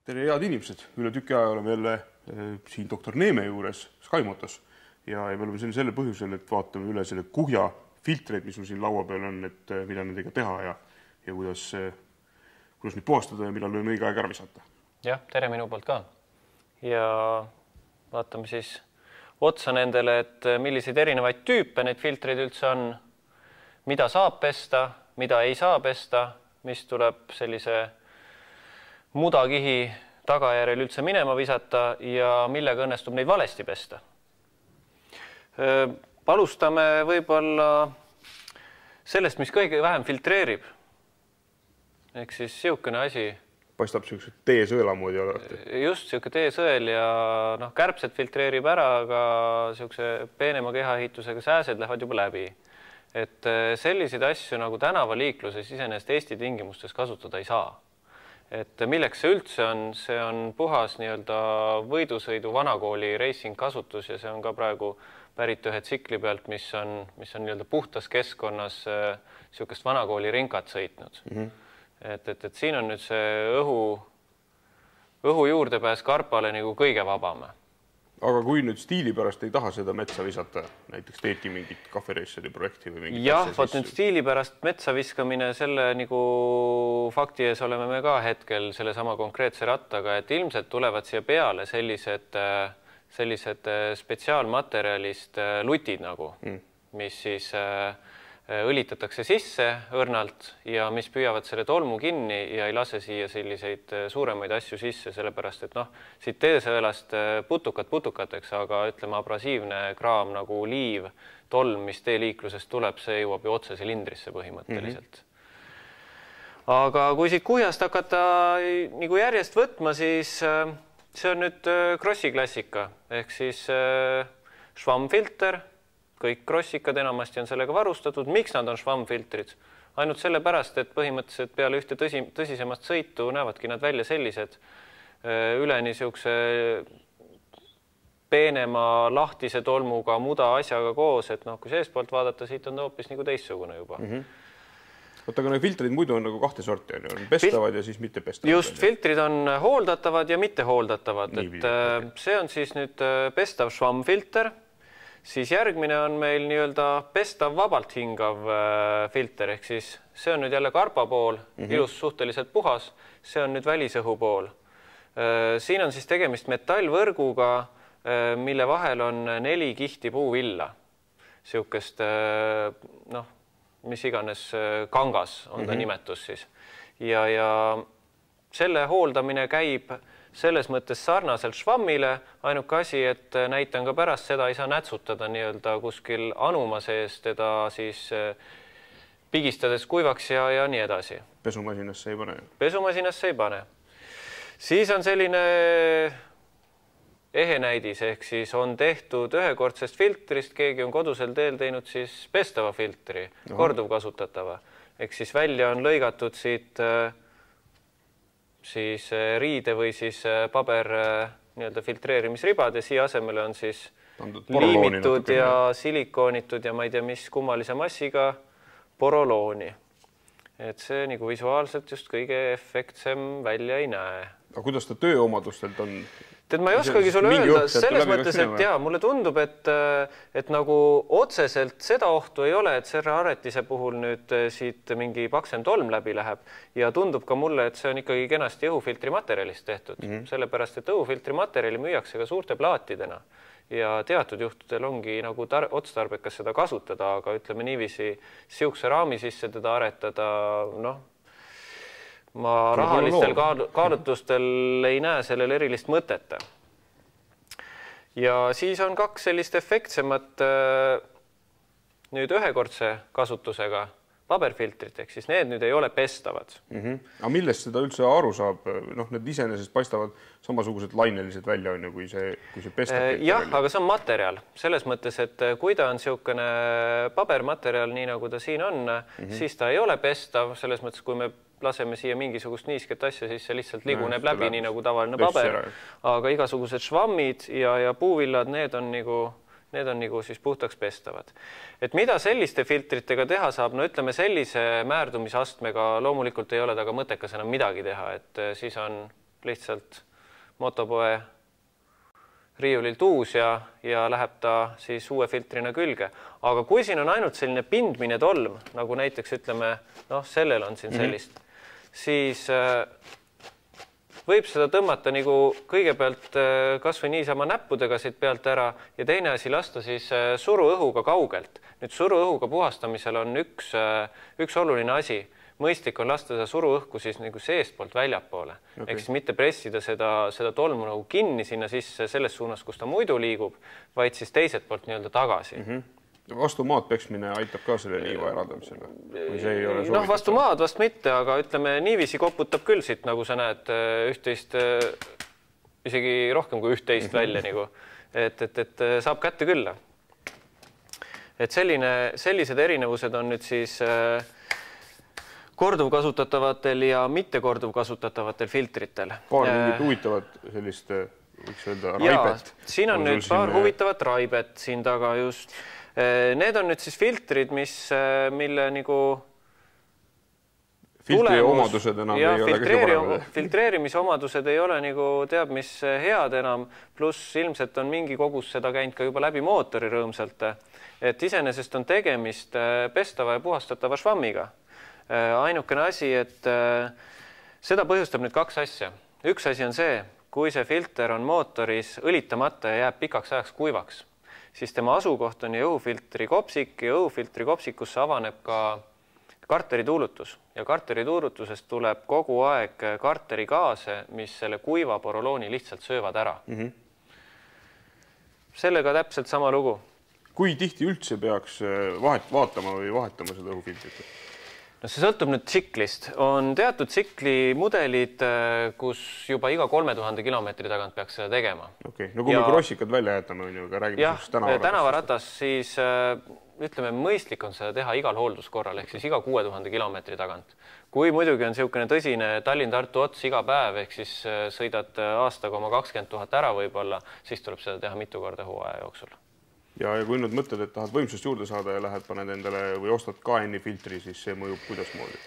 Tere head inimesed, üle tüki aja oleme jälle siin doktor Neeme juures Skymotos ja me oleme siin selle põhjusel, et vaatame üle selle kuhja filtreid, mis meil siin laua peal on, et mida nendega teha ja kuidas neid puhastada ja millal on õige aeg ära visata. Jah, tere minu poolt ka. Ja vaatame siis otsa nendele, et milliseid erinevaid tüüpe neid filtreid üldse on, mida saab pesta, mida ei saa pesta, mis tuleb sellise mudakihi tagajärjel üldse minema visata ja millega õnnestub neid valesti pesta. Alustame võib-olla sellest, mis kõige vähem filtreerib. Ehk siis siukene asi. Paistab siukse teesõela moodi alati. Just siuke teesõel ja kärbsed filtreerib ära, aga siukse peenema kehaehitusega sääsed lähevad juba läbi. Et selliseid asju nagu tänavaliikluses iseenesest Eesti tingimustes kasutada ei saa. Et milleks see üldse on? See on puhas võidusõidu vanakooli racing kasutus ja see on ka praegu pärit ühe tsikli pealt, mis on puhtas keskkonnas siukest vanakooli rinkat sõitnud. Et siin on nüüd see õhu juurdepääs karpale nagu kõige vabame. Aga kui nüüd stiili pärast ei taha seda metsa visata, näiteks teedki mingit kahvereisseri projekti või mingit jah, võt nüüd stiili pärast metsa viskamine, selle nagu fakti ees oleme me ka hetkel selle sama konkreetse rattaga, et ilmselt tulevad siia peale sellised spetsiaalmaterjalist lutid nagu, mis siis õlitatakse sisse õrnalt ja mis püüavad selle tolmu kinni ja ei lase siia selliseid suuremaid asju sisse, sellepärast et siit teesõelast putukateks, aga ütleme abrasiivne kraam nagu liiv, tolm, mis teeliiklusest tuleb, see jõuab ju otse silindrisse põhimõtteliselt. Aga kui siit kuhjast hakata nagu järjest võtma, siis see on nüüd krossi klassika, ehk siis švammfilter. Kõik krossikad enamasti on sellega varustatud. Miks nad on švammfiltrid? Ainult sellepärast, et põhimõtteliselt peale ühte tõsisemast sõitu näevadki nad välja sellised üleni siukse peenema lahtise tolmuga muda asjaga koos, et kui seespoolt vaadata, siit on hoopis nagu teissugune juba. Oota, aga need filtrid muidu on nagu kahte sorti, on pestavad ja siis mitte pestavad. Just, filtrid on hooldatavad ja mitte hooldatavad. See on siis nüüd pestav švammfilter. Siis järgmine on meil pestav vabalt hingav filter, ehk siis see on nüüd jälle karpa pool, ilus suhteliselt puhas, see on nüüd välisõhu pool. Siin on siis tegemist metallvõrguga, mille vahel on 4 kihti puuvilla. Siukest, mis iganes kangas on ta nimetus siis. Ja selle hooldamine käib selles mõttes sarnaselt švammile, ainuke asi, et näitan ka pärast seda ei saa nätsutada kuskil anuma sees teda siis pigistades kuivaks ja nii edasi. Pesumasiinasse ei pane? Pesumasiinasse ei pane. Siis on selline ehe näidis, ehk siis on tehtud ühekordsest filtrist, keegi on kodusel teel teinud siis pestava filtri, korduvkasutatava. Ehk siis välja on lõigatud siit siis riide või siis paber filtreerimisribad ja siia asemele on siis liimitud ja silikoonitud ja ma ei tea, mis kummalise massiga porolooni. Et see nagu visuaalselt just kõige efektsem välja ei näe. Aga kuidas ta tööomadustelt on? Tead, ma ei oskagi sulle öelda, selles mõttes, et mulle tundub, et nagu otseselt seda ohtu ei ole, et Serra Aretise puhul nüüd siit mingi paksem tolm läbi läheb ja tundub ka mulle, et see on ikkagi kenasti õhufiltri materjalist tehtud, sellepärast, et õhufiltri materjali müüakse ka suurte plaatidena ja teatud juhtudel ongi nagu otstarbekas seda kasutada, aga ütleme niiviisi siukse raami sisse teda aretada, ma rahalistel kaalutlustel ei näe sellel erilist mõtet. Ja siis on 2 sellist efektsemat nüüd ühekordse kasutusega paberfiltrit, ehk siis need nüüd ei ole pestavad. Aga millest seda üldse aru saab? Need iseenesest paistavad samasugused lainelised välja, kui see pestab. Jah, aga see on materjal. Selles mõttes, et kui ta on siukene pabermaterjal, nii nagu ta siin on, siis ta ei ole pestav. Selles mõttes, kui me laseme siia mingisugust niisket asja, siis see lihtsalt liguneb läbi, nii nagu tavaline paber. Aga igasugused švammid ja puuvillad, need on nagu siis puhtaks pestavad. Et mida selliste filtritega teha saab? Ütleme sellise määrdumisastmega loomulikult ei ole taga mõttekas enam midagi teha, et siis on lihtsalt motopoe riiulilt uus ja läheb ta siis uue filtrina külge. Aga kui siin on ainult selline pindmine tolm, nagu näiteks ütleme, sellel on siin sellist, siis võib seda tõmmata nagu kõigepealt kas või niisama näppudega siit pealt ära ja teine asi lasta siis suruõhuga kaugelt. Nüüd suruõhuga puhastamisel on üks oluline asi. Mõistlik on lasta seda suruõhku siis nagu seestpoolt väljapoole. Ehk siis mitte pressida seda tolmu nagu kinni sinna sisse selles suunas, kus ta muidu liigub, vaid siis teiselt poolt nii-öelda tagasi. Vastu maad peksmine aitab ka selle liiva eraldamisele? Või see ei ole soovitatud? Vastu maad vast mitte, aga ütleme niiviisi koputab küll siit, nagu sa näed, üht-teist, isegi rohkem kui üht-teist välja, nagu, et saab kätte küll. Et sellised erinevused on nüüd siis korduvkasutatavatel ja mitte korduvkasutatavatel filtritel. Paar mingit huvitavat sellist, võiks öelda, raibet. Siin on nüüd paar huvitavat raibet siin taga just. Need on nüüd siis filtrid, mille nagu filtri omadused enam ei ole kõige paremad. Filtreerimisomadused ei ole nagu teab, mis head enam, pluss ilmselt on mingi kogus seda käinud ka juba läbi mootori rõõmsalt. Et iseenesest on tegemist pestava ja puhastatava švammiga. Ainukene asi, et seda põhjustab nüüd kaks asja. Üks asi on see, kui see filter on mootoris õlitamata ja jääb pikaks ajaks kuivaks, siis tema asukoht on õhufiltri kopsik ja õhufiltri kopsikusse avaneb ka karteri tuulutus. Ja karteri tuulutusest tuleb kogu aeg karteri gaase, mis selle kuiva porolooni lihtsalt söövad ära. Sellega täpselt sama lugu. Kui tihti üldse peaks vaatama või vahetama seda õhufiltrit? See sõltub nüüd tsiklist. On teatud tsikli mudelid, kus juba iga 3000 kilomeetri tagant peaks seda tegema. Okei, no kui me krossikad välja jätame, aga räägime tänavaratas, siis ütleme, mõistlik on seda teha igal hoolduskorral, ehk siis iga 6000 kilomeetri tagant. Kui muidugi on niisugune tõsine Tallinn-Tartu ots iga päev, ehk siis sõidad aastaga oma 20 000 ära võib-olla, siis tuleb seda teha mitu korda hooaja jooksul. Ja kui nüüd mõtled, et tahad võimsust juurde saada ja lähed paned endale või ostad KN-i filtri, siis see mõjub kuidas moodi?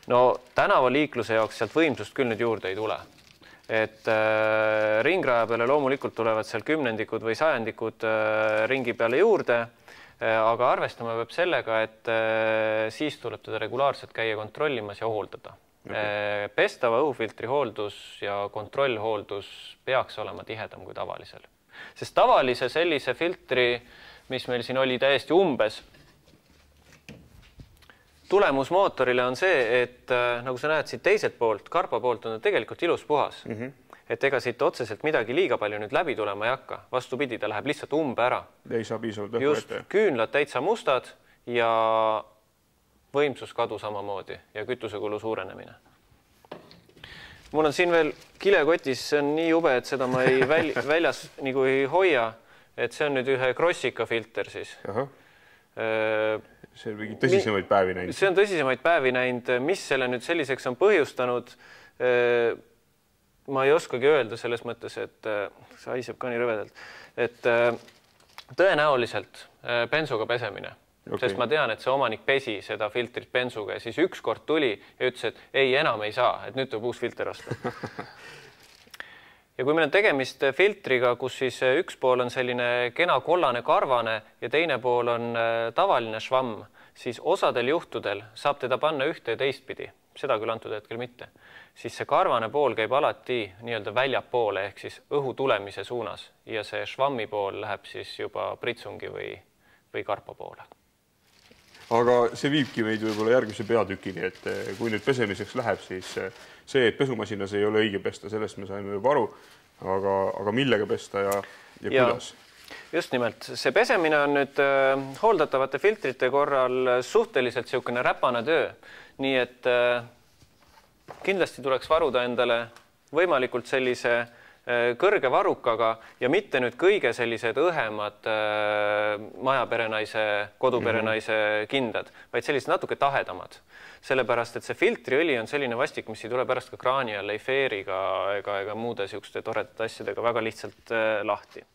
No tänavaliikluse jaoks sealt võimsust küll nüüd juurde ei tule. Et ringraja peale loomulikult tulevad seal kümnendikud või sajandikud ringi peale juurde, aga arvestama peab sellega, et siis tuleb teda regulaarselt käia kontrollimas ja hooldada. Pestava õhufiltri hooldus ja kontrollhooldus peaks olema tihedam kui tavalisel. Sest tavalise sellise filtri, mis meil siin oli täiesti umbes, tulemus mootorile on see, et nagu sa näed siit teiselt poolt, karpa poolt on ta tegelikult ilus puhas. Et ega siit otseselt midagi liiga palju nüüd läbi tulema ei hakka. Vastupidi, ta läheb lihtsalt umbe ära. Ei saa piisavalt õhku ette. Just küünlad täitsa mustad ja võimsuskadu samamoodi ja kütusekulu suurenemine. Mul on siin veel kilekotis, see on nii jube, et seda ma ei väljas nagu ei hoia, et see on nüüd ühe krossika filter siis. See on mingi tõsisemaid päevi näinud. See on tõsisemaid päevi näinud. Mis selle nüüd selliseks on põhjustanud, ma ei oskagi öelda selles mõttes, et see haiseb ka nii rõvedalt, et tõenäoliselt bensuga pesemine. Sest ma tean, et see omanik pesi seda filtrit bensuga ja siis üks kord tuli ja ütles, et ei, enam ei saa, et nüüd tuleb uus filter osta. Ja kui meil on tegemist filtriga, kus siis üks pool on selline kena kollane karvane ja teine pool on tavaline švamm, siis osadel juhtudel saab teda panna ühte ja teistpidi, seda küll antud hetkel mitte, siis see karvane pool käib alati nii-öelda väljapoole ehk siis õhu tulemise suunas ja see švammi pool läheb siis juba pritsungi või karpa poole. Aga see viibki meid võib-olla järgmise peatükini, et kui nüüd pesemiseks läheb, siis see, et pesumasinas ei ole õige pesta, sellest me saime juba aru, aga millega pesta ja kuidas? Just nimelt. See pesemine on nüüd hooldatavate filtrite korral suhteliselt niisugune räpane töö, nii et kindlasti tuleks varuda endale võimalikult sellise kõrge varukaga ja mitte nüüd kõige sellised õhemad majaperenaise, koduperenaise kindad, vaid sellised natuke tahedamad. Sellepärast, et see filtriõli on selline vastik, mis ei tule pärast ka kraani alla, ei feeriga ega muude niisuguste toredate asjadega väga lihtsalt lahti.